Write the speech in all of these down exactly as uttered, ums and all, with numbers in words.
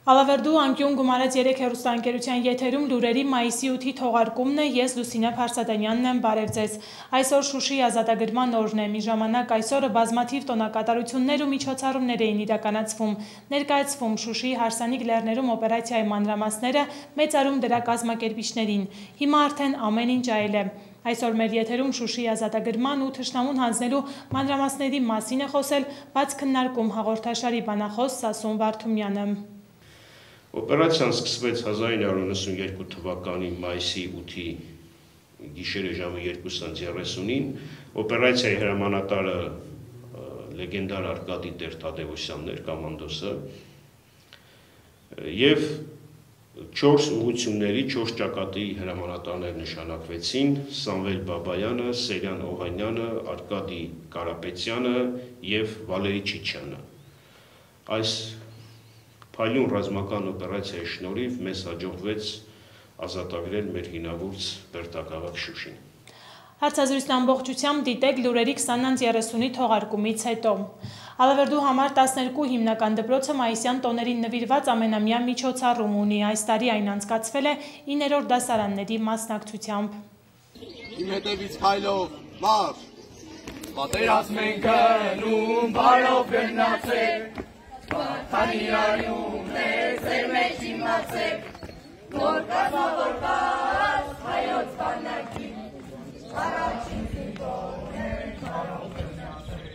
Ալավերդու անկյուն գումարած երեք հեռուստաընկերության եթերում լուրերի մայիսի ութի թողարկումն է, ես Լուսինե Փարսադանյանն եմ, բարև ձեզ։ Այսօր Շուշիի ազատագրման օրն է, մի ժամանակ այսօրը բազմաթիվ տոնակատարություններ ու միջոցառումներ էին իրականացվում, ներկայացվում Շուշիի հարսանիք լեռներում օպերացիայի մանրամասները, մեծարում դրա կազմակերպիչներին, հիմա արդեն ամեն ինչ այլ է։ Այսօր մեր եթերում Շուշիի ազատագրման ու թշնամուն հանձնելու մանրամասների մասին է խոսել բաց քննարկում հաղորդաշարի բանախոս Սասուն Վարդումյանը։ Օպերացիան սկսվեց հազար ինը հարյուր նվսունյոթ թվականի մայիսի ութի գիշերը ժամը երկուսը երեսունին, օպերացիայի հրամանատարը լեգենդար Արկադի Տեր-Թադևոսյանն էր, կոմանդոսը, և չորս ուղղությունների, չորս ճակատի հրամանատարներ նշանակվեցին՝ Սամվել Բաբայանը, Սերյան Օհանյանը, Արկադի Կարապետյանը և Վալերի Չիչյանը։ Այս փայլուն ռազմական օպերացիայի շնորհիվ մեզ հաջողվեց ազատագրել մեր հինավուրց Բերդաքաղաք Շուշին։ Հարցազրույցն ամբողջությամբ դիտեք լուրերի քսանից երեսունի թողարկումից հետո։ Ալավերդու համար տասներկու հիմնական դպրոցը մայիսյան տոներին նվիրված ամենամյա միջոցառում ունի։ Այս տարի այն անցկացվել է իններորդ դասարանների մասնակցությամբ։ Իմ հետևից քայլով մարշ։ Պատերազմ ենք գնում, բարով գնացեք։ Պատանիրայում է ձեր մեջ իմացեք, որ կազմավորված հայոց բանակի առաջին զինվորն ենք բարով գնացեք,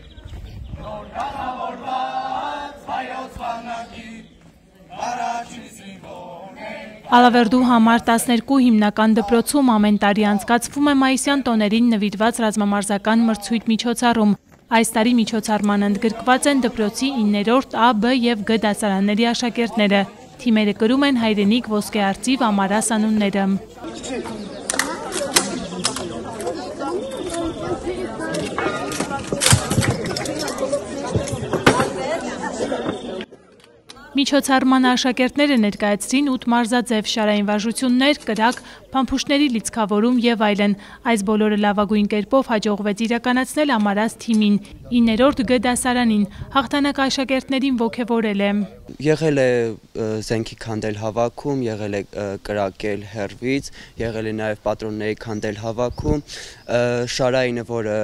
որ կազմավորված հայոց բանակի առաջին զինվորն ենք։ Ալավերդու համար տասներկու հիմնական դպրոցում ամեն տարի անցկացվում է մայիսյան տոներին նվիրված ռազմամարզական մրցույթ միջոցառում։ Այս տարի միջոցառման ընդգրկված են դպրոցի իններորդ Ա, Բ և Գ դասարանների աշակերտները։ Թիմերը կրում են հայրենիք, ոսկե արծիվ, ամարաս անունները։ Միջոցառման աշակերտները ներկայացրին ութ մարզաձև շարային վարժություններ, կրակ, փամփուշտների լիցքավորում և այլն։ Այս բոլորը լավագույն կերպով հաջողվեց իրականացնել ամարաս թիմին, իններորդ Գ դասարանին, հաղթանակը աշակերտներին ոգևորել է։ Եղել է զենքի քանդել հավաքում, եղել է կրակել հեռվից, եղել է նաև պատրոնների քանդել հավաքում, շարայինը, որը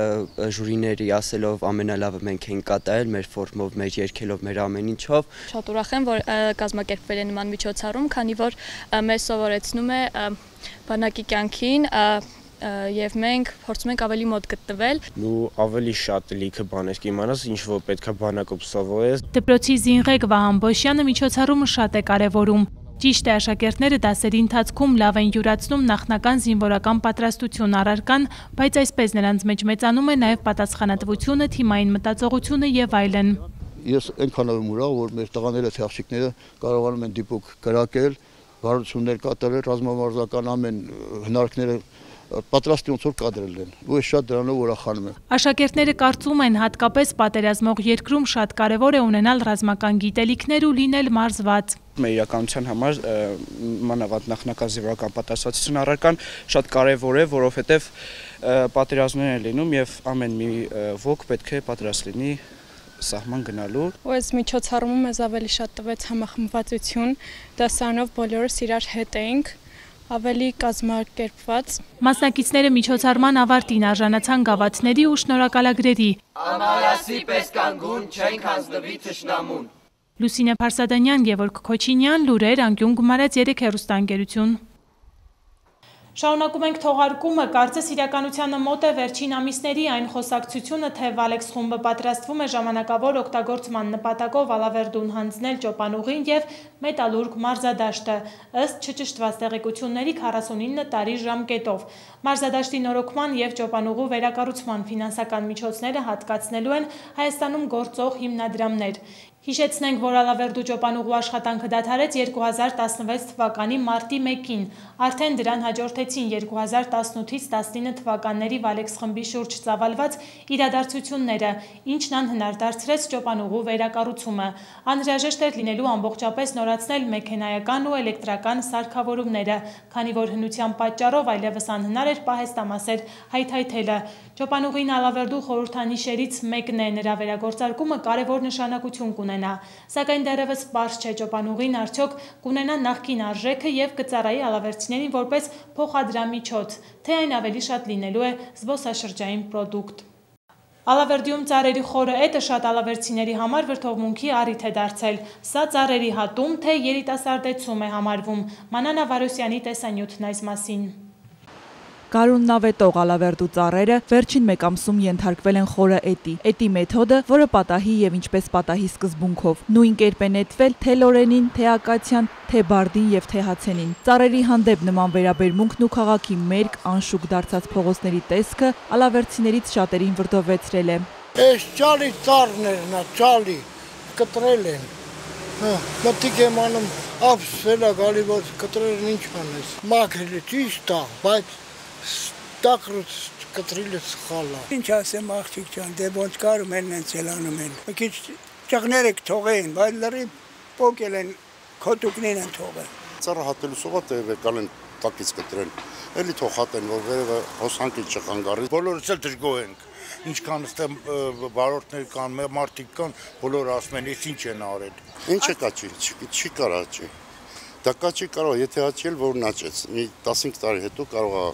ժուրիների ասելով ամենալավը մենք ենք կատարել, մեր ֆորմով, մեր երգելով, մեր ամեն ինչով։ Շատ ուրախ եմ, որ կազմակերպվել է նման միջոցառում, քանի որ մեզ սովորեցնում է բանակի կյանքին և մենք փորձում ենք ավելի մոտ գտնվել։ Ու ավելի շատ լիքը բաներ կիմանաս, ինչ որ պետք է բանակում սովորես։ Դպրոցի զինղեկ Վահան Բոշյանը միջոցառումը շատ է կարևորում։ Ճիշտ է, աշակերտները դասերի ընթացքում լավ են յուրացնում նախնական զինվորական պատրաստություն առարկան, բայց այսպես նրանց մեջ մեծանում է նաև պատասխանատվությունը, թիմային մտածողությունը և այլն։ Ես այնքան եմ ուրախ, որ մեր տղաները, աղջիկները կարողանում են դիպուկ կրակել, վարություններ կատարել, ռազմամարզական ամեն հնարքները պատրաստի ոնց որ կադրել են, ու ես շատ դրանով ուրախանում եմ։ Աշակերտները կարծում են, հատկապես պատերազմող երկրում շատ կարևոր է ունենալ ռազմական գիտելիքներ ու լինել մարզված։ Մեր իրականության համար մանավանդ նախնական զինվորական պատասխանատվություն առարկան շատ կարևոր է, որովհետև պատերազմներ են լինում և ամեն մի ոք պետք է պատրաստ լինի սահման գնալու։ Ու այս միջոցառումը մեզ ավելի շատ տվեց համախմբվածություն, դասարանով բոլորս իրար հետ էինք, ավելի կազմակերպված։ Մասնակիցները միջոցառման ավարտին արժանացան գավաթների ու շնորհակալագրերի։ Ամարասի պես կանգուն չենք հանձնվի թշնամուն։ Լուսինե Փարսադանյան, Գևորգ Քոչինյան, լուրեր, անկյուն գումարած երեք հեռուստաընկերություն։ Շարունակում ենք թողարկումը, կարծես իրականությանը մոտ է վերջին ամիսների այն խոսակցությունը, թե Վալեքս խումբը պատրաստվում է ժամանակավոր օգտագործման նպատակով Ալավերդուն հանձնել Ճոպանուղին և Մետալուրգ մարզադաշտը, ըստ չճշտված տեղեկությունների քառասունինը տարի ժամկետով։ Մարզադաշտի նորոգման և Ճոպանուղու վերակառուցման ֆինանսական միջոցները հատկացնելու են Հայաստանում գործող հիմնադրամներ։ Հիշեցնենք, որ Ալավերդու Ճոպանուղու աշխատանքը դադարեց երկու հազար տասնվեց թվականի մարտի մեկին, արդեն դրան հաջորդեցին երկու հազար տասնութից տասնինը թվականների Վալեքս խմբի շուրջ ծավալված իրադարձությունները, ինչն անհնար դարձրեց Ճոպանուղու վերակառուցումը։ Անհրաժեշտ էր լինելու ամբողջապես նորացնել մեքենայական ու էլեկտրական սարքավորումները, քանի որ հնության պատճառով այլևս անհնար էր պահեստամասեր հայթայթելը։ Ճոպանուղին Ալավերդու խորհրդանիշերից մեկն է, նրա վերագործարկումը կարևոր նշանակություն կունենա կունենա, սակայն դեռևս պարզ չէ ճոպանուղին արդյոք կունենա նախկին արժեքը եւ կծառայի ալավերցիներին որպես փոխադրամիջոց, թե այն ավելի շատ լինելու է զբոսաշրջային պրոդուկտ։ Ալավերդիում ծառերի խորը էտը շատ ալավերցիների համար վրդովմունքի առիթ է դարձել։ Սա ծառերի հատում, թե երիտասարդեցում է համարվում։ Մանանա Վարոսյանի տեսանյութն այս մասին։ Գարուննավետող ալավերդու ծառերը վերջին մեկ ամսում ենթարկվել են խորը էտի։ Էտի մեթոդը, որը պատահի եւ ինչպես պատահի սկզբունքով։ Նույն կերպ է նետվել թե լորենին, թե ակացիան, թե բարդին եւ թե հացենին։ Ծառերի հանդեպ նման վերաբերմունքն ու քաղաքի մերկ անշուք դարձած փողոցների տեսքը ալավերցիներից շատերին վրդովեցրել է։ Այս ճալի ծառներն է, ճալի կտրել են։ Մտիկ եմ անում, ապսվել է գալի, որ կտրելն ինչ անես։ Մաքրել է ճիշտ է, բայց տակրուց կտրիլը սխալ է։ Ինչ ասեմ աղջիկ ջան, դե ոնց կարում են նենց էլ անում են։ Մի քիչ ճղները կթողեն, բայց լրի փոկել են, քոտուկներ են թողել։ Ծառը հատելու սովա տեղեկալ են տակից կտրեն։ Էլի թող հատեն, որ վերևը հոսանքի չխանգարի։ Բոլորս էլ դժգոհ ենք։ Ինչքան ստեմ վարորդներ կան, մարդիկ կան, բոլորը ասում են, «Էս ինչ են արել»։ Ինչ է կաչի, չի կարա աճի։ Դա կաչի կարող, եթե աճի էլ որն աճեց։ Մի տասնհինգ տարի հետո կարող է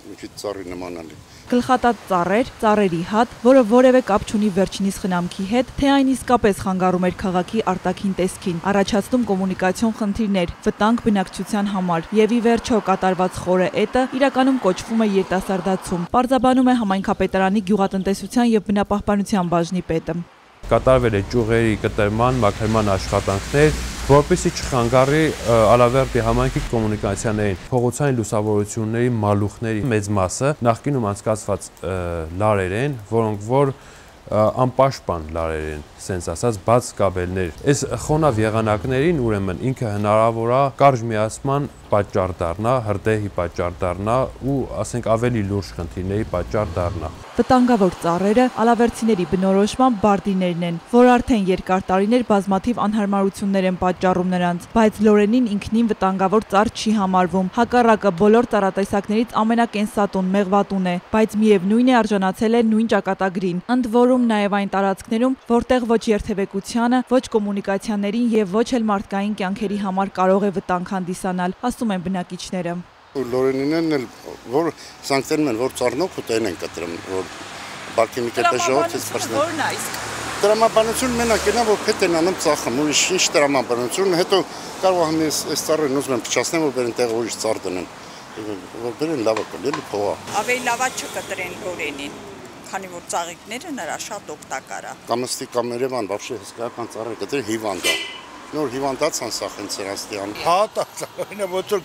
մի քիչ ծառի նմանալի։ Գլխատած ծառեր, ծառերի հատ, որը որևէ կապ չունի վերջինիս խնամքի հետ, թե այն իսկապես խանգարում էր քաղաքի արտաքին տեսքին, առաջացնում կոմունիկացիոն խնդիրներ, վտանգ բնակչության համար, եւ ի վերջո կատարված խորը էտը իրականում կոչվում է երիտասարդացում, պարզաբանում է համայնքապետարանի գյուղատնտեսության եւ բնապահպանության բաժնի պետը։ Կատարվել է ճյուղերի կտրման, մաքրման աշխատանքներ, որպեսզի չխանգարի Ալավերդի համայնքի կոմունիկացիաներին, փողոցային լուսավորությունների մալուխների մեծ մասը նախկինում անցկացված լարեր են, որոնք որ անպաշտպան լարեր են, սենց ասած բաց կաբելներ։ Այս խոնավ եղանակներին ուրեմն ինքը հնարավոր է կարճ միացման պատճառ դառնա, հրդեհի պատճառ դառնա ու ասենք ավելի լուրջ խնդիրների պատճառ դառնա։ Վտանգավոր ծառերը ալավերցիների բնորոշման բարդիներն են, որ արդեն երկար տարիներ բազմաթիվ անհարմարություններ են պատճառում նրանց, բայց լորենին ինքնին վտանգավոր ծառ չի համարվում։ Հակառակը բոլոր ծառատեսակներից ամենակենսատուն, մեղվատուն է, բայց միևնույն է արժանացել է նույն ճակատագրին, ընդ որում նաև այն տարածքներում, որտեղ ոչ երթևեկությանը, ոչ կոմունիկացիաներին եւ ոչ էլ մարդկային կյանքերի համար կարող է վտանգ հանդիսանալ, ասում են բնակիչները։ Լորենինեն էլ որ սանկտերում են, որ ծառնոք ուտեն են կտրում, որ բարգի մի կետը ժողովրդից պրսնեն։ Որն է իսկ։ Տրամաբանություն մենակ ենա, որ փետ են անում ծախում, ուրիշ ինչ տրամաբանություն, հետո կարող եմ այս ծառերն ուզում եմ փչացնեմ, որ բերեն տեղը ուրիշ ծառ դնեն, որ բերեն լավը կլի փողա։ Ավելի լավա չկտրեն լորենին, քանի որ ծաղիկները նրա շատ օգտակար է։ Կամստի կամ Երևան, вообще հսկայական ծառեր կտրեն հիվանդ է։ Նոր հիվանդած անսախեն ցերաստիան։ Հատա, ոչ որ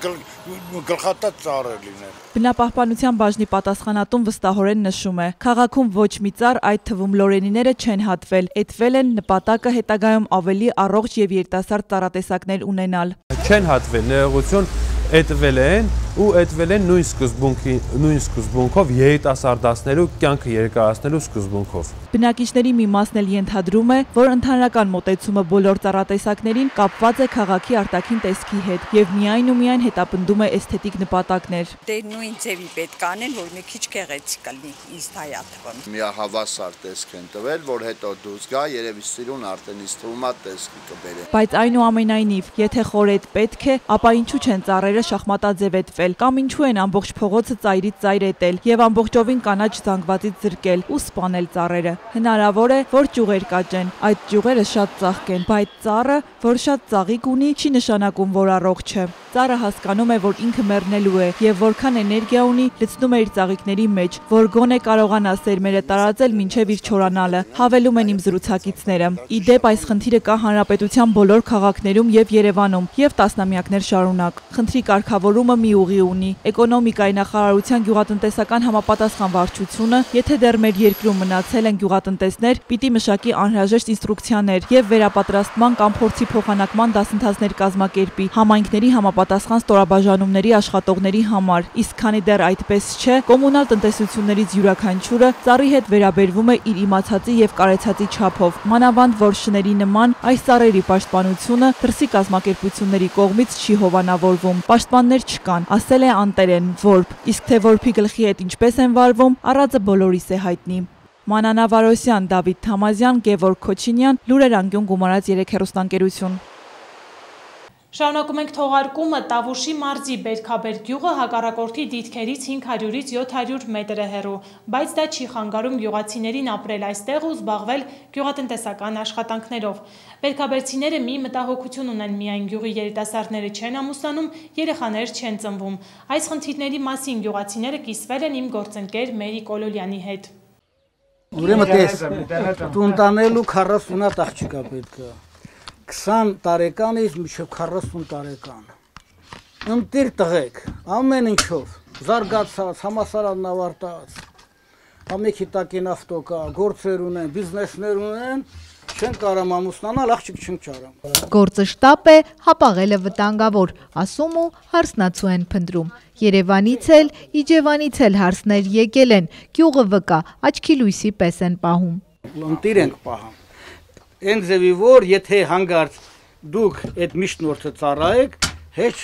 գլխատած ծառեր լինեն։ Բնապահպանության բաժնի պատասխանատուն վստահորեն նշում է. քաղաքում ոչ մի ծառ, այդ թվում լորենիները չեն հատվել, էտվել են նպատակը հետագայում ավելի առողջ եւ երիտասարդ ծառատեսակներ ունենալ։ Չեն հատվել, ներողություն, էտվել են ու էտվել են նույն սկզբունքի նույն սկզբունքով երիտասարդացնելու կյանքը երկարացնելու սկզբունքով։ Բնակիչների մի մասն էլ ենթադրում է, որ ընդհանրական մոտեցումը բոլոր ծառատեսակներին կապված է քաղաքի արտաքին տեսքի հետ եւ միայն ու միայն հետապնդում է էսթետիկ նպատակներ։ Դե նույն ձևի պետք անեն, որ մի քիչ գեղեցիկ լինի, ինձ հայա թվում։ Միահավասար տեսք են տվել, որ հետո դուրս գա, երևի սիրուն արդեն իսկ թվում է տեսքի կբերեն։ Բայց այնուամենայնիվ, եթե խորետ պետք է, ապա ինչու չեն ծառերը շախմատաձև էտվել, կամ ինչու են ամբողջ փողոցը ծայրից ծայր էտել եւ ամբողջովին կանաչ զանգվածից զրկել ու սպանել ծառերը։ Հնարավոր է, որ ճյուղեր կաճեն, այդ ճյուղերը շատ ծաղկ են, բայց ծառը, որ շատ ծաղիկ ունի, չի նշանակում, որ առողջ է։ Ծառը հասկանում է, որ ինքը մեռնելու է եւ որքան էներգիա ունի, լցնում է իր ծաղիկների մեջ, որ գոնե կարողանա սերմերը տարածել մինչեւ իր չորանալը, հավելում են իմ զրուցակիցները։ Ի դեպ, այս խնդիրը կա հանրապետության բոլոր քաղաքներում եւ Երևանում եւ տասնամյակներ շարունակ։ Խնդրի կարգավորումը մի ուղի ունի։ Էկոնոմիկայի նախարարության գյուղատնտեսական համապատասխան վարչությունը, եթե դեռ մեր երկրում մնացել են գյուղատնտեսներ, պիտի մշակի անհրաժեշտ ինստրուկցիաներ եւ վերապատրաստման կամ փորձի փոխանակման դասընթացներ կազմակերպի համայնքների համապատասխան ստորաբաժանումների աշխատողների համար, իսկ քանի դեռ այդպես չէ, կոմունալ տնտեսություններից յուրաքանչյուրը ծառի հետ վերաբերվում է իր իմացածի եւ կարեցածի չափով, մանավանդ որ շների նման այս ծառերի պաշտպանությունը դրսի կազմակերպությունների կողմից չի հովանավորվում, պաշտպաններ չկան, ասել է Անտերեն Որբ, իսկ թե որբի գլխի հետ ինչպես են վարվում, առածը բոլորիս է հայտնի։ Մանանա Վարոսյան, Դավիթ Թամազյան, Գևորգ Քոչինյան, Լուրեր անկյուն գումարած երեք հեռուստաընկերություն։ Շարունակում ենք թողարկումը Տավուշի մարզի Բերքաբեր գյուղը հակառակորդի դիրքերից հինգ հարյուրից յոթ հարյուր մետր է հեռու, բայց դա չի խանգարում գյուղացիներին ապրել այստեղ ու զբաղվել գյուղատնտեսական աշխատանքներով։ Բերքաբերցիները մի մտահոգություն ունեն, միայն գյուղի երիտասարդները չեն ամուսնանում, երեխաներ չեն ծնվում։ Այս խնդիրների մասին գյուղացիները կիսվել են իմ գործընկեր Մերի Կոլոլյանի հետ։ Ուրեմն տես, տուն տանելու քառասուն աղջիկա պետք է։ քսան տարեկանից մինչև քառասուն տարեկան։ Ընտիր տղեկ, ամեն ինչով, զարգացած, համալսարանն ավարտած, ամեքի տակին ավտո կա, գործեր ունեն, բիզնեսներ ունեն, չեն կարամ ամուսնանալ, աղջիկ չեն ճարամ։ Գործը շտապ է, հապաղելը վտանգավոր, ասում ու հարսնացու են փնտրում։ Երևանից էլ, Իջևանից էլ հարսներ եկել են, գյուղը վկա, աչքի լույսի պես են պահում։ Ընտիր ենք պահում։ Այն ձևի որ եթե հանգարց դուք այդ միշտնորդը ծառայեք, հեչ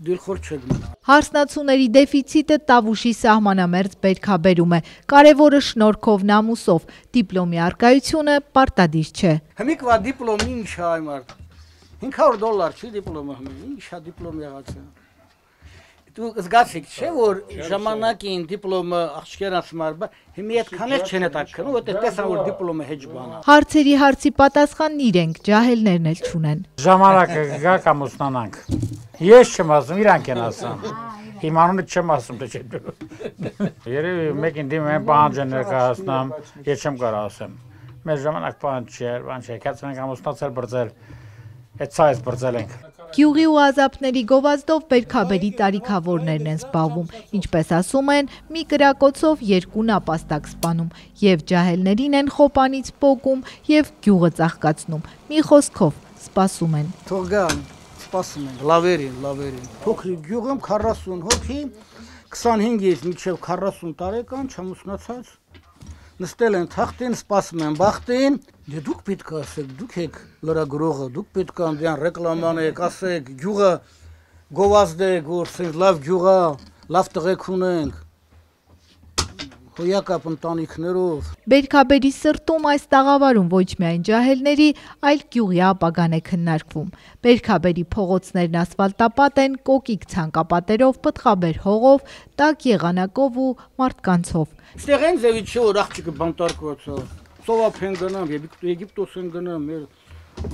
դիլխոր չեք մնա։ Հարսնացուների դեֆիցիտը Տավուշի սահմանամերձ Բերքաբերում է, կարևորը շնորհքով նամուսով, դիպլոմի առկայությունը պարտադիր չէ։ Հիմիկվա դիպլոմ ինչ է այ մարդ։ հինգ հարյուր դոլար չի դիպլոմը հիմա, ինչ է դիպլոմ եղած է։ Դու զգացիք չէ որ ժամանակին դիպլոմը աղջիկերս մարդ, հիմա այդքան էլ չեն հետաքրքրում, որտեղ տեսան որ դիպլոմը հեչ բան է։ Հարցերի հարցի պատասխանն իրենք, ջահելներն էլ չունեն։ Ժամանակը գա կամ ուսնանանք։ Ես չեմ ասում, իրանք են ասում։ Իմանունը չեմ ասում, թե չէ։ Երևի մեկին դիմում են պահանջ են ներկայացնում, ես չեմ կարող ասեմ։ Մեր ժամանակ պահանջ չէ, բան չէ, կացել ենք ամուսնացել, բրձել, այդ ցայս բրձել ենք։ Գյուղի ու ազապների գովազդով Բերքաբերի տարիքավորներն են զբաղվում, ինչպես ասում են, մի կրակոցով երկու նապաստակ սպանում, եւ ջահելներին են խոպանից պոկում եւ գյուղը ծաղկացնում, մի խոսքով սպասում են։ Թող գան, սպասում են, լավերին, լավերին։ Փոքրիկ գյուղում քառասուն հոգի, քսանհինգից մինչև քառասուն տարեկան չամուսնացած նստել են թախտին, սպասում են բախտին, դե դուք պետք է ասեք, դուք եք լրագրողը, դուք պետք է դրան ռեկլամանեք, ասեք, գյուղը գովազդեք, որ սենց լավ գյուղ է, լավ տղեկ ունենք, հոյակապ ընտանիքներով։ Բերքաբերի սրտում այս տաղավարում ոչ միայն ջահելների, այլ գյուղի ապագան է քննարկվում։ Բերքաբերի փողոցներն ասֆալտապատ են, կոկիկ ցանկապատերով, պտղաբեր հողով, տաք եղանակով ու մարդկանցով։ Ստեղ են ձևի չէ որ աղջիկը բանտարկված է, Սովափ են գնամ, Եգիպտոս են գնամ, մեր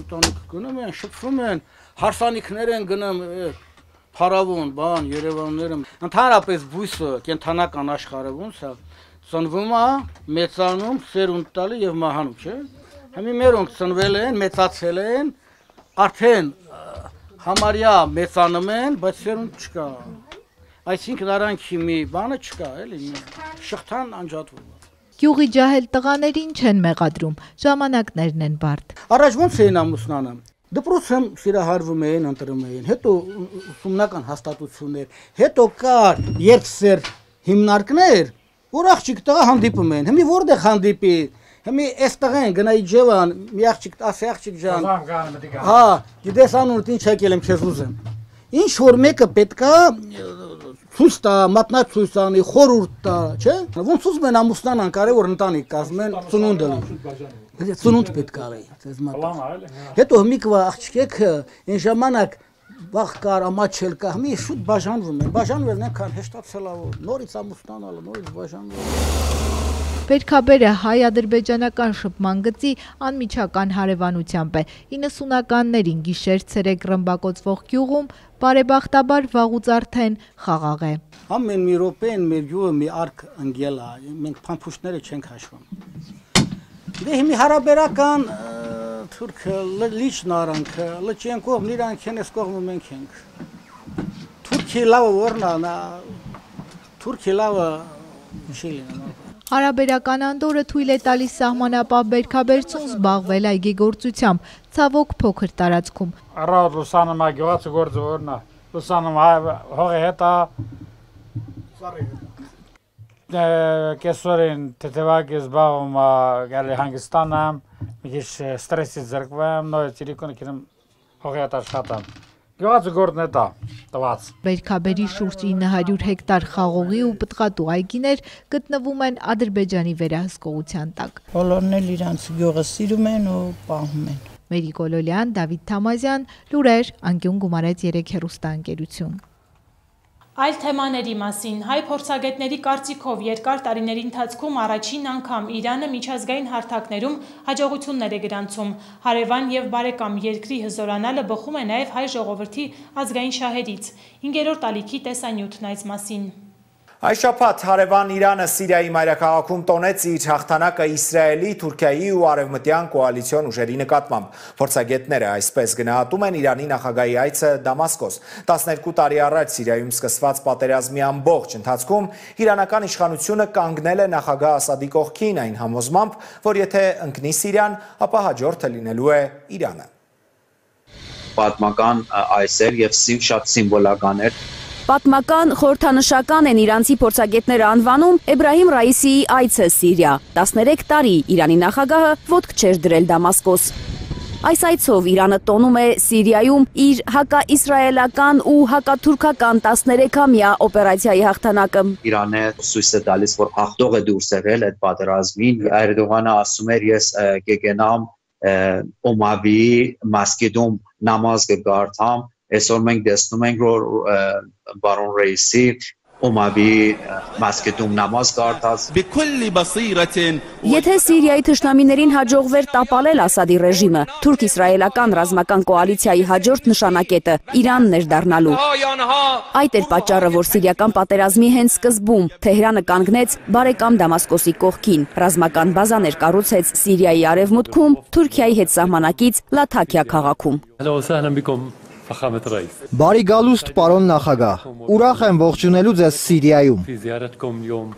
ընտանիքը գնում են, շփվում են, հարսանիքներ են գնում, փարավոն, բան, Երևանները։ Ընդհանրապես բույսը կենթանական աշխարհը ոնց է, ծնվում է, մեծանում, սերունդ տալի եւ մահանում, չէ։ Հիմա մերոնք ծնվել են, մեծացել են, արդեն համարյա մեծանում են, բայց սերունդ չկա։ Այսինքն արանքի մի բանը չկա, էլի, շղթան անջատվում է։ Գյուղի ջահել տղաներին չեն մեղադրում, ժամանակներն են բարդ։ Առաջ ոնց էին ամուսնանում։ Դպրոցում սիրահարվում էին, ընտրում էին, հետո ուսումնական հաստատություններ, հետո կար երկսեր հիմնարկներ, որ աղջիկ տղա հանդիպում են։ Հիմա որտեղ հանդիպի։ Հիմա այս տղեն գնա Իջևան, մի աղջիկ, ասի աղջիկ ջան։ Հա, գիտես անունդ ինչ եկել եմ, քեզ ուզեմ։ Ինչ որ մեկը պետքա ցույց տա, մատնացույց անի, խորհուրդ տա, չէ՞։ Ոնց ուզում են ամուսնանան, կարևոր ընտանիք կազմեն, ծնունդը լինի։ Ծնունդ պետք է արի, ձեզ մոտ։ Հետո հիմիկվա աղջիկը այն ժամանակ վաղ կար, ամաչել կա, մի շուտ բաժանվում են, բաժանվելն այնքան հեշտացել է, որ նորից ամուսնանալը, նորից բաժանվելը։ Բերքաբերը հայ-ադրբեջանական շփման գծի անմիջական հարևանությամբ է։ իննսունականներին գիշեր-ցերեկ ռմբակոծվող գյուղում բարեբախտաբար վաղուց արդեն խաղաղ է։ Ամեն մի րոպեն մեր գյուղը մի արկ ընկել է, մենք փամփուշտները չենք հաշվում։ Դե հիմի հարաբերական թուրքը լիճն արանքը, լճենկով իրանք են, այս կողմը մենք ենք։ Թուրքի լավը որն է, Թուրքի լավը չի լինում։ Հարաբերական անդորը թույլ է տալիս սահմանապահ Բերքաբերցուն զբաղվել այգեգործությամբ, ցավոք փոքր տարածքում։ Առավոտ լուսանում է գյուղացու գործը որն է, լուսանում հողի հետ է, կեսօրին թեթևակի զբաղվում է գալի հանգստանամ, մի քիչ ստրեսից զրկվեմ, նորից իրիկունը կինեմ հողի հետ աշխատամ։ Գյուղացու գործն է դա։ տված։ Բերքաբերի շուրջ ինը հարյուր հեկտար խաղողի ու պտղատու այգիներ գտնվում են Ադրբեջանի վերահսկողության տակ։ Բոլորն էլ իրանց գյուղը սիրում են ու պահում են։ Մերի Կոլոլյան, Դավիթ Թամազյան, լուրեր, անկյուն գումարեց երեք հեռուստաընկերություն։ Այլ թեմաների մասին հայ փորձագետների կարծիքով երկար տարիների ընթացքում առաջին անգամ Իրանը միջազգային հարթակներում հաջողություններ է գրանցում։ Հարևան եւ բարեկամ երկրի հզորանալը բխում է նաեւ հայ ժողովրդի ազգային շահերից։ Հինգերորդ ալիքի տեսանյութն այս մասին։ Այս շաբաթ հարևան Իրանը Սիրիայի մայրաքաղաքում տոնեց իր հաղթանակը Իսրայելի, Թուրքիայի ու արևմտյան կոալիցիոն ուժերի նկատմամբ։ Փորձագետները այսպես գնահատում են Իրանի նախագահի այցը Դամասկոս։ տասներկու տարի առաջ Սիրիայում սկսված պատերազմի ամբողջ ընթացքում իրանական իշխանությունը կանգնել է նախագահ Ասադի կողքին այն համոզմամբ, որ եթե ընկնի Սիրիան, ապա հաջորդը լինելու է Իրանը։ Պատմական այցեր եւ շատ սիմվոլական էր։ Պատմական խորհրդանշական են իրանցի փորձագետները անվանում Էբրահիմ Ռայիսիի այցը Սիրիա։ տասներեք տարի Իրանի նախագահը ոտք չէր դրել Դամասկոս։ Այս այցով Իրանը տոնում է Սիրիայում իր հակաիսրայելական ու հակաթուրքական տասներեքամյա օպերացիայի հաղթանակը։ Իրանը ցույց է տալիս, որ հաղթող է դուրս եղել այդ պատերազմին։ Էրդողանը ասում էր, ես կգնամ Օմավի Մասկիդում նամազ կգարթամ։ Այսօր մենք տեսնում ենք, որ բարոն Ռայիսի Օմավի Մասկիդում նամազ կարդաց։ Եթե Սիրիայի թշնամիներին հաջողվեր տապալել Ասադի ռեժիմը, թուրք-իսրայելական ռազմական կոալիցիայի հաջորդ նշանակետը Իրանն էր դառնալու։ Այդ էր պատճառը, որ սիրիական պատերազմի հենց սկզբում Թեհրանը կանգնեց բարեկամ Դամասկոսի կողքին։ Ռազմական բազաներ կառուցեց Սիրիայի արևմուտքում, Թուրքիայի հետ սահմանակից Լաթաքիա քաղաքում։ Բարի գալուստ, պարոն նախագահ, ուրախ եմ ողջունելու ձեզ Սիրիայում։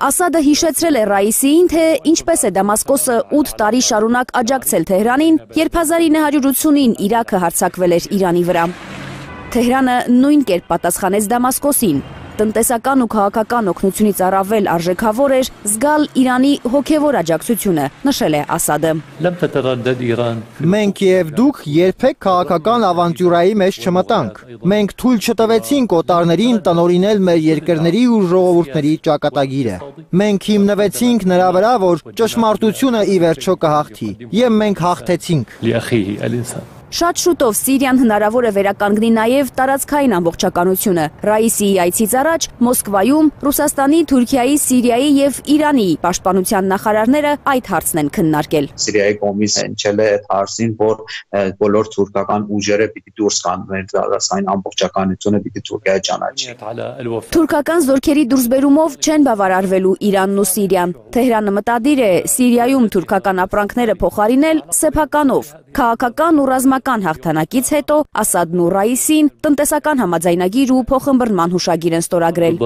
Ասադը հիշեցրել է Ռայիսիին, թե ինչպես է Դամասկոսը ութ տարի շարունակ աջակցել Թեհրանին, երբ հազար ինը հարյուր ութսունին Իրաքը հարձակվել էր Իրանի վրա։ Թեհրանը նույն կերպ պատասխանեց Դամասկոսին։ Տնտեսական ու քաղաքական օգնությունից առավել արժեքավոր էր զգալ Իրանի հոգևոր աջակցությունը, նշել է Ասադը։ Մենք եւ դուք երբեք քաղաքական ավանտյուրայի մեջ չմտանք։ Մենք թույլ չտվեցինք օտարներին տնօրինել մեր երկրների ու ժողովուրդների ճակատագիրը։ Մենք հիմնվեցինք նրա վրա, որ ճշմարտությունը ի վերջո կհաղթի, եւ մենք հաղթեցինք։ Շատ շուտով Սիրիան հնարավոր է վերականգնի նաև տարածքային ամբողջականությունը։ Ռայիսիի այցից առաջ Մոսկվայում Ռուսաստանի, Թուրքիայի, Սիրիայի եւ Իրանի պաշտպանության նախարարները այդ հարցն են քննարկել։ Սիրիայի կողմից հնչել է այդ հարցին, որ բոլոր թուրքական ուժերը պիտի դուրս գան, մեր տարածքային ամբողջականությունը պիտի Թուրքիա ճանաչի։ Թուրքական զորքերի դուրսբերումով չեն բավարարվելու Իրանն ու Սիրիան։ Թեհրանը մտադիր է Սիրիայում թուրքական ապրանքները փոխարինել սեփականով։ Քաղաքական ու ռազմական հաղթանակից հետո Ասադն ու Ռայիսին տնտեսական համաձայնագիր ու փոխըմբռնման հուշագիր են ստորագրել։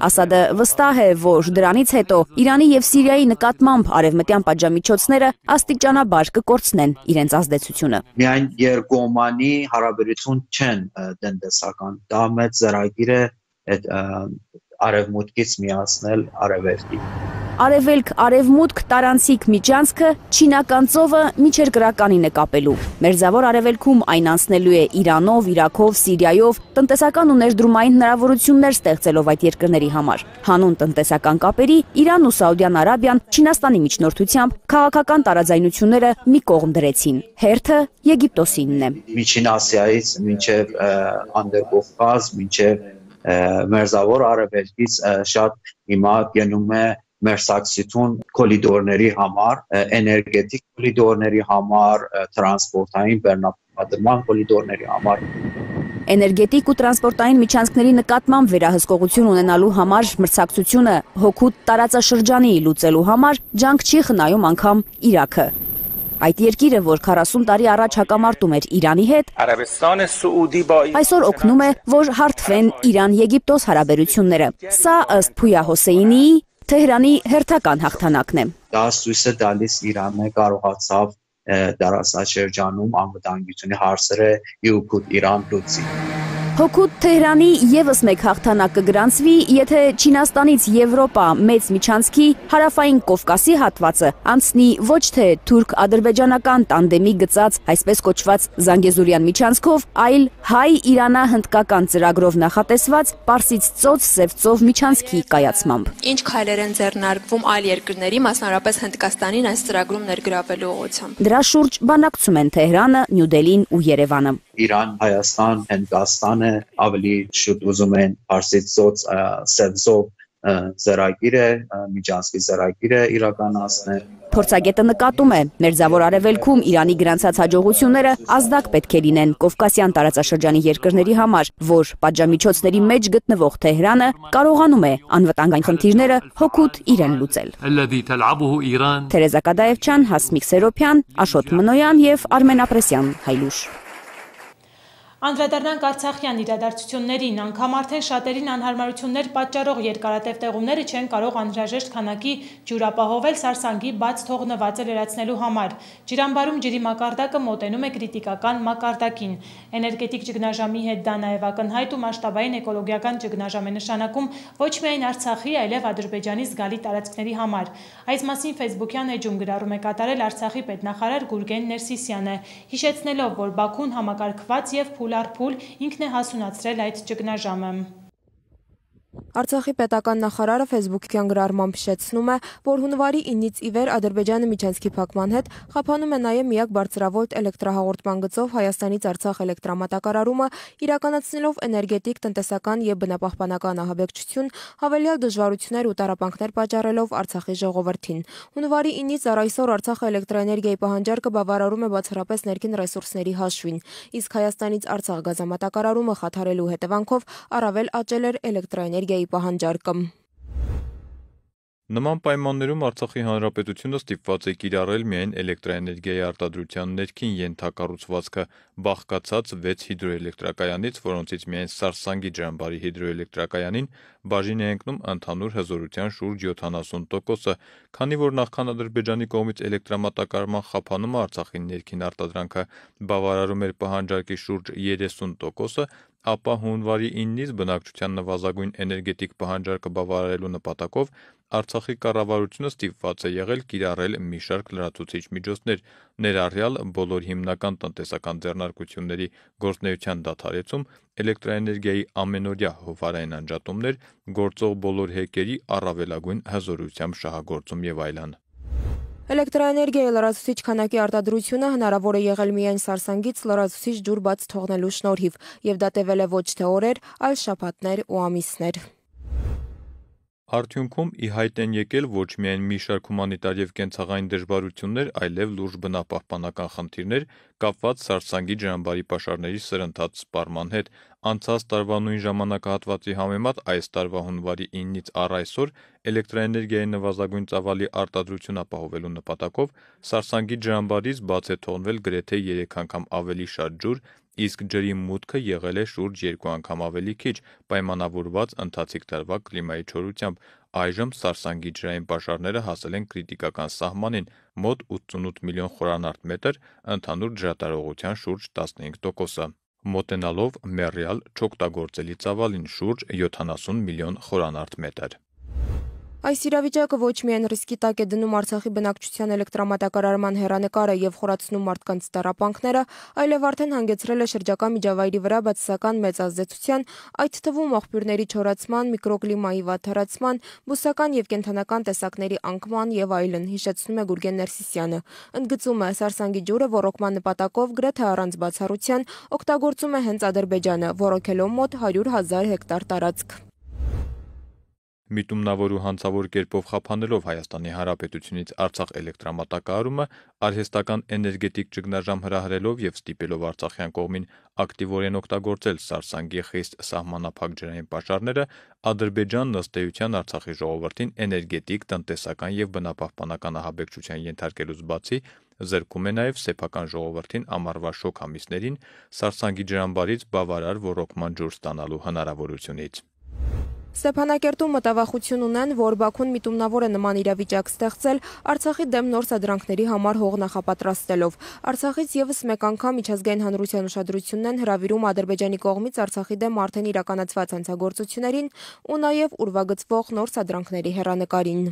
Ասադը վստահ է, որ դրանից հետո Իրանի եւ Սիրիայի նկատմամբ արևմտյան պատժամիջոցները աստիճանաբար կկորցնեն իրենց ազդեցությունը։ Միայն երկկողմանի հարաբերություն չեն տնտեսական, դա մեծ ծրագիր է այդ արևմուտքից միացնել արևելքի։ Արևելք-արևմուտք տարանցիկ միջանցքը չինական ծովը միջերկրականին է կապելու։ Մերձավոր արևելքում այն անցնելու է Իրանով, Իրաքով, Սիրիայով, տնտեսական ու ներդրումային հնարավորություններ ստեղծելով այդ երկրների համար։ Հանուն տնտեսական կապերի Իրանն ու Սաուդյան Արաբիան Չինաստանի միջնորդությամբ քաղաքական տարաձայնությունները մի կողմ դրեցին։ Հերթը Եգիպտոսինն է։ Միջին Ասիայից մինչև Անդրկովկազ, մինչև Մերձավոր արևելքից շատ հիմա գնում է մերսակցություն կոլիդորների համար, էներգետիկ կոլիդորների համար, տրանսպորտային բեռնապատկման կոլիդորների համար։ Էներգետիկ ու տրանսպորտային միջանցքների նկատմամբ վերահսկողություն ունենալու համար մրցակցությունը հօգուտ տարածաշրջանի լուծելու համար ջանք չի խնայում անգամ Իրաքը։ Այդ երկիրը, որ քառասուն տարի առաջ հակամարտում էր Իրանի հետ, այսօր օգնում է, որ հարթվեն Իրան-Եգիպտոս հարաբերությունները։ Սա ըստ Փույա Հոսեյնիի Թեհրանի հերթական հաղթանակն է։ Դա ցույց է տալիս Իրանը կարողացավ տարածաշրջանում անվտանգությունի հարցերը իուքուտ Իրան լուծի։ Հօգուտ Թեհրանի եւս մեկ հաղթանակ կգրանցվի, եթե Չինաստանից Եվրոպա մեծ միջանցքի հարավային Կովկասի հատվածը անցնի ոչ թե թուրք-ադրբեջանական տանդեմի գծած այսպես կոչված Զանգեզուրյան միջանցքով, այլ հայ-իրանա-հնդկական ծրագրով նախատեսված Պարսից ծոց-Սև ծով միջանցքի կայացմամբ։ Ինչ քայլեր են ձեռնարկվում այլ երկրների, մասնավորապես Հնդկաստանին այս ծրագրում ներգրավելու ուղղությամբ։ Դրա շուրջ բանակցում են Թեհրանը, Նյու Դելին ու Երևանը։ Իրան, Հայաստան, Հնդկաստանը ավելի շուտ ուզում են Պարսից ծոց Սև ծով ծրագիրը, միջանցքի ծրագիրը իրականացնել։ Փորձագետը նկատում է, Մերձավոր Արևելքում Իրանի գրանցած հաջողությունները ազդակ պետք է լինեն Կովկասյան տարածաշրջանի երկրների համար, որ պատժամիջոցների մեջ գտնվող Թեհրանը կարողանում է անվտանգային խնդիրները հօգուտ իրեն լուծել։ Թերեզա Կադաևչյան, Հասմիկ Սերոփյան, Աշոտ Մնոյան եւ Արմեն Ապրեսյան, Հայլուշ։ Անդրադառնանք Արցախյան իրադարձություններին, անգամ արդեն շատերին անհարմարություններ պատճառող երկարատև տեղումները չեն կարող անհրաժեշտ քանակի ջուր ապահովել Սարսանգի բաց թողնվածը լրացնելու համար։ Ջրամբարում ջրի մակարդակը մոտենում է կրիտիկական մակարդակին։ Էներգետիկ ճգնաժամի հետ դա նաև ակնհայտ ու մասշտաբային էկոլոգիական ճգնաժամ է նշանակում ոչ միայն Արցախի, այլև Ադրբեջանի զգալի տարածքների համար։ Այս մասին Facebook-յան էջում գրառում է կատարել Արցախի պետնախարար Գուրգեն Ներսիսյանը, հիշեցնելով, որ Բաքուն համակարգված եւ փուլ առ փուլ ինքն է հասունացրել այդ ճգնաժամը։ Արցախի պետական նախարարը Facebook-յան գրառմամբ հիշեցնում է, որ հունվարի իննից ի վեր Ադրբեջանը միջանցքի փակման հետ խափանում է նաև միակ բարձրավոլտ էլեկտրահաղորդման գծով Հայաստանից Արցախ էլեկտրամատակարարումը, իրականացնելով էներգետիկ, տնտեսական եւ բնապահպանական ահաբեկչություն, հավելյալ դժվարություններ ու տառապանքներ պատճառելով Արցախի ժողովրդին։ Հունվարի իննից առ այսօր Արցախը էլեկտրաէներգիայի պահանջարկը բավարարում է բացառապես ներքին ռեսուրսների հաշվին, իսկ Հայաստանից Արցախ գազամատակարարումը խաթարելու հետևանքով առավել աճել էր էլեկտրաէներգիայի պահանջարկը։ Նման պայմաններում Արցախի Հանրապետությունը ստիպված է կիրառել միայն էլեկտրաէներգիայի արտադրության ներքին ենթակառուցվածքը, բաղկացած վեց հիդրոէլեկտրակայանից, որոնցից միայն Սարսանգի ջրամբարի հիդրոէլեկտրակայանին բաժին է ընկնում ընդհանուր հզորության շուրջ յոթանասուն տոկոսը, քանի որ նախքան Ադրբեջանի կողմից էլեկտրամատակարարման խափանումը Արցախի ներքին արտադրանքը բավարարում էր պահանջարկի շուրջ երեսուն տոկոսը, ապա հունվարի իննից բնակչության նվազագույն էներգետիկ պահանջարկը բավարարելու նպատակով Արցախի կառավարությունը ստիպված է եղել կիրառել մի շարք լրացուցիչ միջոցներ, ներառյալ բոլոր հիմնական տնտեսական ձեռնարկությունների գործունեության դադարեցում, էլեկտրաէներգիայի ամենօրյա հովհարային անջատումներ, գործող բոլոր հեկերի առավելագույն հզորությամբ շահագործում եւ այլն։ Էլեկտրաէներգիայի լրացուցիչ քանակի արտադրությունը հնարավոր է եղել միայն Սարսանգից լրացուցիչ ջուր բաց թողնելու շնորհիվ, եւ դա տևել է ոչ թե օրեր, այլ շաբաթներ ու ամիսներ։ Արդյունքում ի հայտ են եկել ոչ միայն մի շարք հումանիտար եւ կենցաղային դժվարություններ, այլև լուրջ բնապահպանական խնդիրներ կապված Սարսանգի ջրամբարի պաշարների սրընթաց սպառման հետ։ Անցած տարվա նույն ժամանակահատվածի համեմատ այս տարվա հունվարի իննից առ այսօր էլեկտրաէներգիայի նվազագույն ծավալի արտադրություն ապահովելու նպատակով Սարսանգի ջրամբարից բաց է թողնվել գրեթե երեք անգամ ավելի շատ ջուր, իսկ ջրի մուտքը եղել է շուրջ երկու անգամ ավելի քիչ, պայմանավորված ընթացիկ տարվա կլիմայի չորությամբ։ Այժմ Սարսանգի ջրային պաշարները հասել են կրիտիկական սահմանին՝ մոտ ութսունութ միլիոն խորանարդ մետր, ընդհանուր ջրատարողության շուրջ տասնհինգ տոկոսը, մոտենալով մեռյալ չօգտագործելի ծավալին՝ շուրջ յոթանասուն միլիոն խորանարդ մետր։ Այս իրավիճակը ոչ միայն ռիսկի տակ է դնում Արցախի բնակչության էլեկտրամատակարարման հեռանկարը եւ խորացնում մարդկանց տառապանքները, այլև արդեն հանգեցրել է շրջակա միջավայրի վրա բացասական մեծ ազդեցության, այդ թվում աղբյուրների չորացման, միկրոկլիմայի վատթարացման, բուսական եւ կենդանական տեսակների անկման եւ այլն, հիշեցնում է Գուրգեն Ներսիսյանը։ Ընդգծում է, Սարսանգի ջուրը ոռոգման նպատակով գրեթե առանց բացառության օգտագործում է հենց Ադրբեջանը, ոռոգելով մոտ հարյուր հազար հեկտար տարածք։ Միտումնավոր ու հանցավոր կերպով խափանելով Հայաստանի Հանրապետությունից Արցախ էլեկտրամատակարարումը, արհեստական էներգետիկ ճգնաժամ հրահրելով եւ ստիպելով Արցախյան կողմին ակտիվորեն օգտագործել Սարսանգի խիստ սահմանափակ ջրային պաշարները, Ադրբեջանն ըստ էության Արցախի ժողովրդին էներգետիկ, տնտեսական եւ բնապահպանական ահաբեկչության ենթարկելուց բացի զրկում է նաեւ սեփական ժողովրդին ամառվա շոգ ամիսներին Սարսանգի ջրամբարից բավարար ոռոգման ջուր ստանալու հնարավորությունից։ Ստեփանակերտում մտավախություն ունեն, որ Բաքուն միտումնավոր է նման իրավիճակ ստեղծել Արցախի դեմ նոր սադրանքների համար հող նախապատրաստելով։ Արցախից եւս մեկ անգամ միջազգային հանրության ուշադրությունն են հրավիրում Ադրբեջանի կողմից Արցախի դեմ արդեն իրականացված հանցագործություններին ու նաեւ ուրվագծվող նոր սադրանքների հեռանկարին։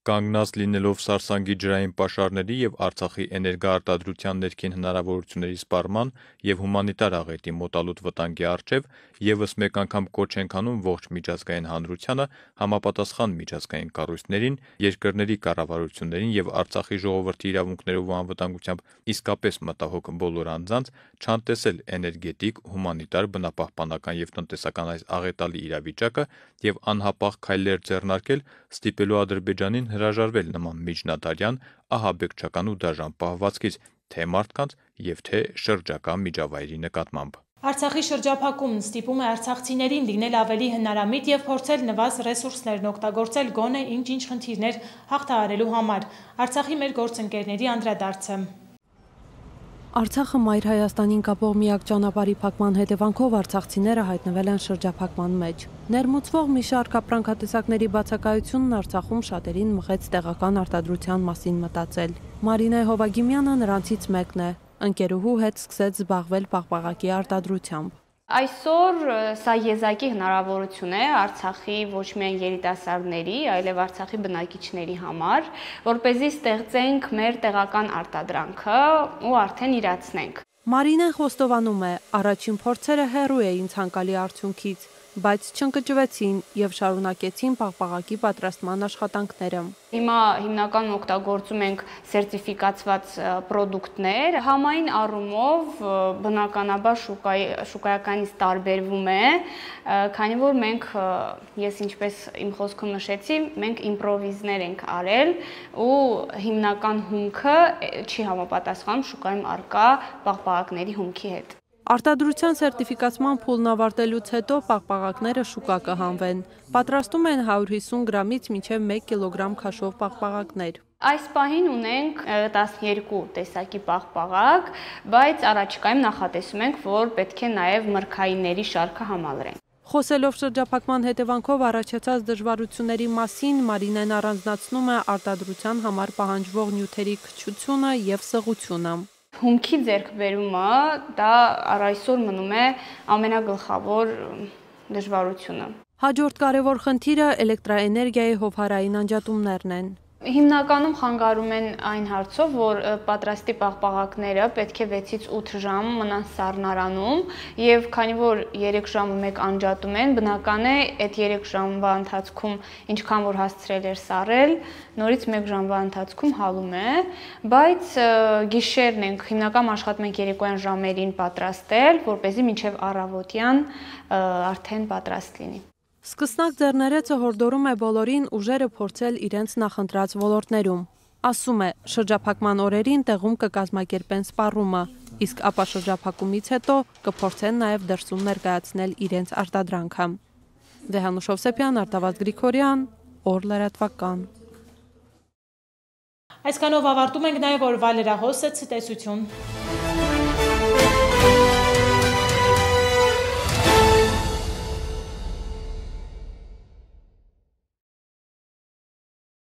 Կանգնած լինելով Սարսանգի ջրային պաշարների եւ Արցախի էներգոարտադրության ներքին հնարավորությունների սպառման եւ հումանիտար աղետի մոտալուտ վտանգի առջեւ եւս մեկ անգամ կոչ ենք անում ողջ միջազգային հանրությանը համապատասխան միջազգային կառույցներին, երկրների կառավարություններին եւ Արցախի ժողովրդի իրավունքներով ու անվտանգությամբ իսկապես մտահոգ բոլոր անձանց չանտեսել էներգետիկ, հումանիտար, բնապահպանական եւ տնտեսական այս աղետալի իրավիճակը եւ անհապաղ քայլեր ձեռնարկել, ստիպելու Ադրբեջանին հրաժարվել նման միջնադարյան, ահաբեկչական ու դաժան պահվածքից թե մարդկանց եւ թե շրջակա միջավայրի նկատմամբ։ Արցախի շրջափակումն ստիպում է արցախցիներին լինել ավելի հնարամիտ եւ փորձել նվազ ռեսուրսներն օգտագործել գոնե ինչ-ինչ խնդիրներ հաղթահարելու համար։ Արցախի մեր գործընկերների անդրադարձը։ Արցախը մայր Հայաստանին կապող միակ ճանապարհի փակման հետևանքով արցախցիները հայտնվել են շրջափակման մեջ։ Ներմուծվող մի շարք ապրանքատեսակների բացակայությունն Արցախում շատերին մղեց տեղական արտադրության մասին մտածել։ Մարինե Հովագիմյանը նրանցից մեկն է։ Ընկերուհու հետ սկսեց զբաղվել պաղպաղակի արտադրությամբ։ Այսօր սա եզակի հնարավորություն է Արցախի ոչ միայն երիտասարդների, այլև Արցախի բնակիչների համար, որպեսզի ստեղծենք մեր տեղական արտադրանքը ու արդեն իրացնենք։ Մարինեն խոստովանում է, առաջին փորձերը հեռու էին ցանկալի արդյունքից, բայց չընկճվեցին եւ շարունակեցին պաղպաղակի պատրաստման աշխատանքները։ Հիմա հիմնականում օգտագործում ենք սերտիֆիկացված պրոդուկտներ, համային առումով բնականաբար շուկայի շուկայականից տարբերվում է, քանի որ մենք, ես ինչպես իմ խոսքում նշեցի, մենք իմպրովիզներ ենք արել ու հիմնական հումքը չի համապատասխանում շուկայում առկա պաղպաղակների հումքի հետ։ Արտադրության սերտիֆիկացման փուլն ավարտելուց հետո պաղպաղակները շուկա կհանվեն։ Պատրաստում են հարյուր հիսուն գրամից մինչև մեկ կիլոգրամ քաշով պաղպաղակներ։ Այս պահին ունենք տասներկու տեսակի պաղպաղակ, բայց առաջիկայում նախատեսում ենք, որ պետք է նաև մրգայինների շարքը համալրենք։ Խոսելով շրջափակման հետևանքով առաջացած դժվարությունների մասին, Մարինեն առանձնացնում է արտադրության համար պահանջվող նյութերի քչությունը եւ սղությունը։ Հումքի ձեռքբերումը դա առ այսօր մնում է ամենագլխավոր դժվարությունը։ Հաջորդ կարևոր խնդիրը էլեկտրաէներգիայի հովհարային անջատումներն են։ Հիմնականում խանգարում են այն հարցով, որ պատրաստի պաղպաղակները պետք է վեցից ութ ժամ մնան սառնարանում եւ քանի որ երեք ժամը մեկ անջատում են, բնական է այդ երեք ժամվա ընթացքում ինչքան որ հասցրել էր սառել, նորից մեկ ժամվա ընթացքում հալում է, բայց գիշերն ենք հիմնականում աշխատում ենք երեկոյան ժամերին պատրաստել, որպեսզի մինչեւ առավոտյան արդեն պատրաստ լինի։ Սկսնակ ձեռներեցը հորդորում է բոլորին ուժերը փորձել իրենց նախընտրած ոլորտներում։ Ասում է, շրջափակման օրերին տեղում կկազմակերպեն սպառումը, իսկ ապա շրջափակումից հետո կփորձեն նաև դրսում ներկայացնել իրենց արտադրանքը։ Վեհանուշ Հովսեփյան, Արտավազդ Գրիգորյան, Օր լրատվական։ Այսքանով ավարտում ենք նաև օրվա լրահոսը, ցտեսություն։